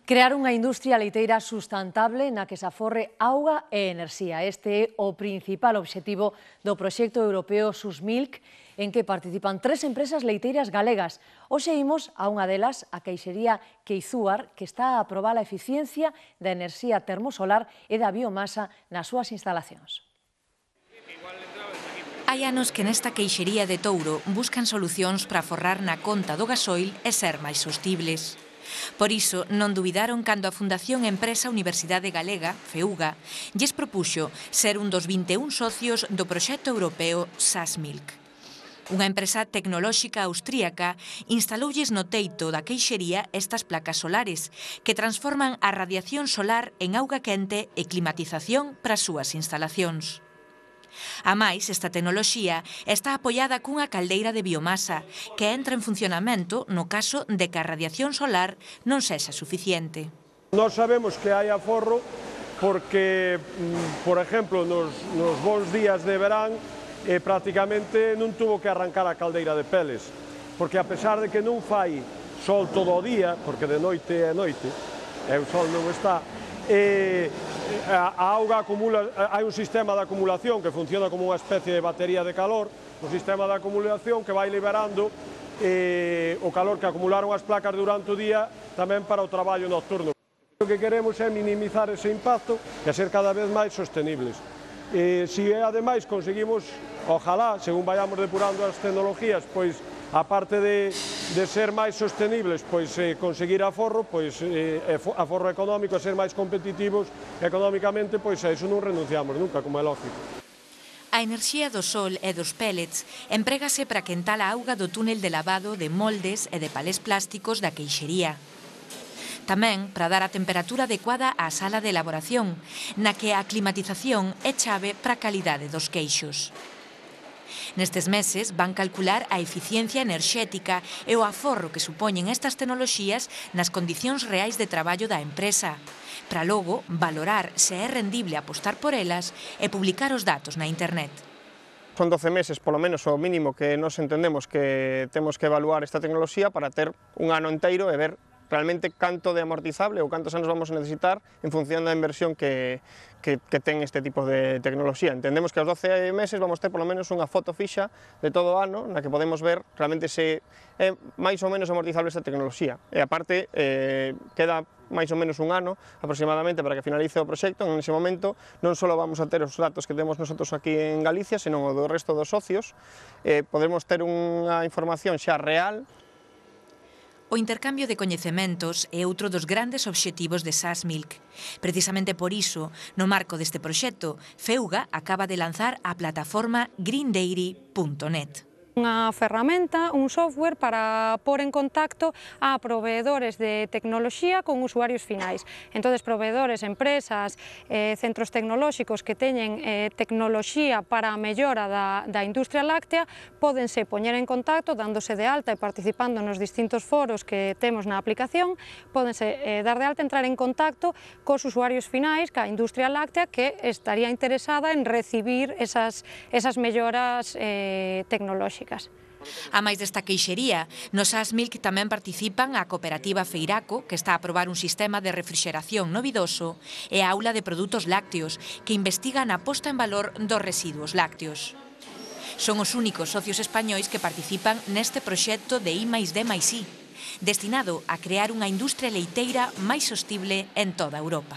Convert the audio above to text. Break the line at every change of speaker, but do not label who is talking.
Crear unha industria leiteira sustentable na que se aforre auga e enerxía. Este é o principal obxectivo do proxecto europeo SUSMILK, en que participan 3 empresas leiteiras galegas. Hoxe imos a unha delas, a queixería Queizúar, que está a aprobar a eficiencia da enerxía termosolar e da biomasa nas súas instalacións.
Hai anos que nesta queixería de Touro buscan solucións para aforrar na conta do gasoil e ser máis sostibles. Por iso, non dubidaron cando a Fundación Empresa Universidade Galega, FEUGA, lles propuxo ser un dos 21 socios do proxecto europeo SUSMILK. Unha empresa tecnolóxica austríaca instaloulles no teito da queixería estas placas solares que transforman a radiación solar en auga quente e climatización para as súas instalacións. A máis, esta tecnoloxía está apoiada cunha caldeira de biomasa que entra en funcionamento no caso de que a radiación solar non sexa suficiente.
Nós sabemos que hai aforro porque, por exemplo, nos bons días de verán prácticamente non tuvo que arrancar a caldeira de peles, porque a pesar de que non fai sol todo o día, porque de noite é noite, e o sol non está, a auga acumula, hai un sistema de acumulación que funciona como unha especie de batería de calor, un sistema de acumulación que vai liberando o calor que acumularon as placas durante o día tamén para o traballo nocturno. O que queremos é minimizar ese impacto e ser cada vez máis sostenibles. Se ademais conseguimos, ojalá, según vayamos depurando as tecnologías, pois aparte de ser máis sostenibles, pois conseguir aforro, pois aforro económico, ser máis competitivos económicamente, pois a iso non renunciamos nunca, como é lógico.
A enerxía do sol e dos pellets emprégase para quentar a auga do túnel de lavado de moldes e de palés plásticos da queixería. Tamén para dar a temperatura adecuada á sala de elaboración, na que a climatización é chave para a calidade dos queixos. Nestes meses van calcular a eficiencia enerxética e o aforro que supoñen estas tecnoloxías nas condicións reais de traballo da empresa, para logo valorar se é rendible apostar por elas e publicar os datos na internet.
Son 12 meses, polo menos, o mínimo que nos entendemos que temos que evaluar esta tecnoloxía para ter un ano inteiro e ver realmente canto de amortizable ou cantos anos vamos a necesitar en función da inversión que ten este tipo de tecnoloxía. Entendemos que aos 12 meses vamos ter polo menos unha foto fixa de todo o ano na que podemos ver realmente se é máis ou menos amortizable esta tecnoloxía. E aparte, queda máis ou menos un ano aproximadamente para que finalice o proxecto. En ese momento non só vamos a ter os datos que temos nosotros aquí en Galicia, senón o do resto dos socios. Podemos ter unha información xa real.
O intercambio de coñecementos é outro dos grandes obxectivos de SUSMILK. Precisamente por iso, no marco deste proxecto, FEUGA acaba de lanzar a plataforma greendairy.net.
Unha ferramenta, un software para pôr en contacto a proveedores de tecnoloxía con usuarios finais. Entón, proveedores, empresas, centros tecnolóxicos que teñen tecnoloxía para a mellora da industria láctea pódense poñer en contacto, dándose de alta e participando nos distintos foros que temos na aplicación, pódense dar de alta, entrar en contacto cos usuarios finais, ca industria láctea que estaría interesada en recibir esas melloras tecnolóxicas.
A máis desta queixería, no SUSMILK tamén participan a cooperativa Feiraco, que está a probar un sistema de refrixeración novidoso, e a Aula de Produtos Lácteos, que investigan a posta en valor dos residuos lácteos. Son os únicos socios españois que participan neste proxecto de I+D+I, destinado a crear unha industria leiteira máis sostible en toda Europa.